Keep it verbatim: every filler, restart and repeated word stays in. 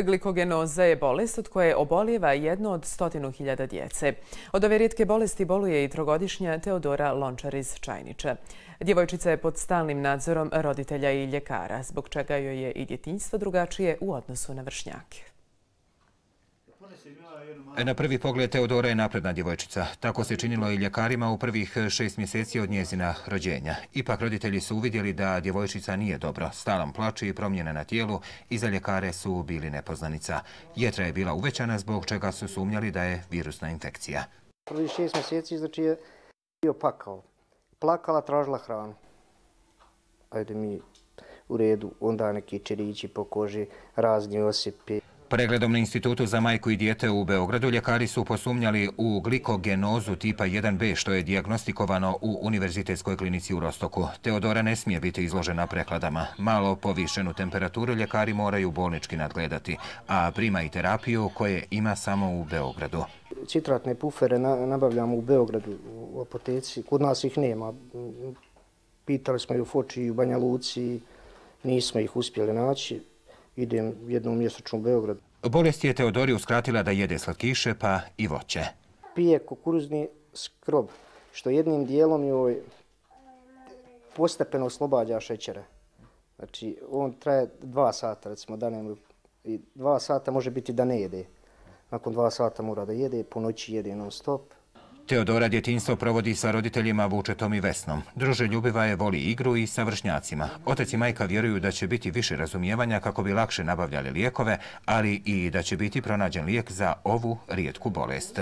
Glikogenoza je bolest od koje obolijeva jedno od stotinu hiljada djece. Od ove rijetke bolesti boluje i trogodišnja Teodora Lončar iz Čajnića. Djevojčica je pod stalnim nadzorom roditelja i ljekara, zbog čega joj je i djetinjstvo drugačije u odnosu na vršnjake. Na prvi pogled Teodora je napredna djevojčica. Tako se činilo i ljekarima u prvih šest mjeseci od njezina rođenja. Ipak roditelji su uvidjeli da djevojčica nije dobro. Stalan plač i promjene na tijelu i za ljekare su bili nepoznanica. Jetra je bila uvećana zbog čega su sumnjali da je virusna infekcija. Prvi šest mjeseci znači je bio pakao. Plakala, tražila hranu. Ajde mi u redu, onda neki čerići po koži, razni osipi. Pregledom na Institutu za majku i dijete u Beogradu ljekari su posumnjali u glikogenozu tipa jedan be, što je dijagnostikovano u Univerzitetskoj klinici u Rostoku. Teodora ne smije biti izložena prekladama. Malo povišenu temperaturu ljekari moraju bolnički nadgledati, a prima i terapiju koje ima samo u Beogradu. Citratne pufere nabavljamo u Beogradu u apoteci. Kod nas ih nema. Pitali smo i u Foči i u Banja Luci, nismo ih uspjeli naći. Idem jednom mjesečno u Beograd. Bolest je Teodori uskratila da jede slatkiše pa i voće. Pije kukuruzni skrob, što jednim dijelom joj postepeno oslobađa šećera. Znači, on traje dva sata, recimo, da ne, i dva sata može biti da ne jede. Nakon dva sata mora da jede, po noći jede non stop. Teodora djetinjstvo provodi sa roditeljima Vučetom i Vesnom. Druželjubiva je, voli igru i sa vršnjacima. Otac i majka vjeruju da će biti više razumijevanja kako bi lakše nabavljali lijekove, ali i da će biti pronađen lijek za ovu rijetku bolest.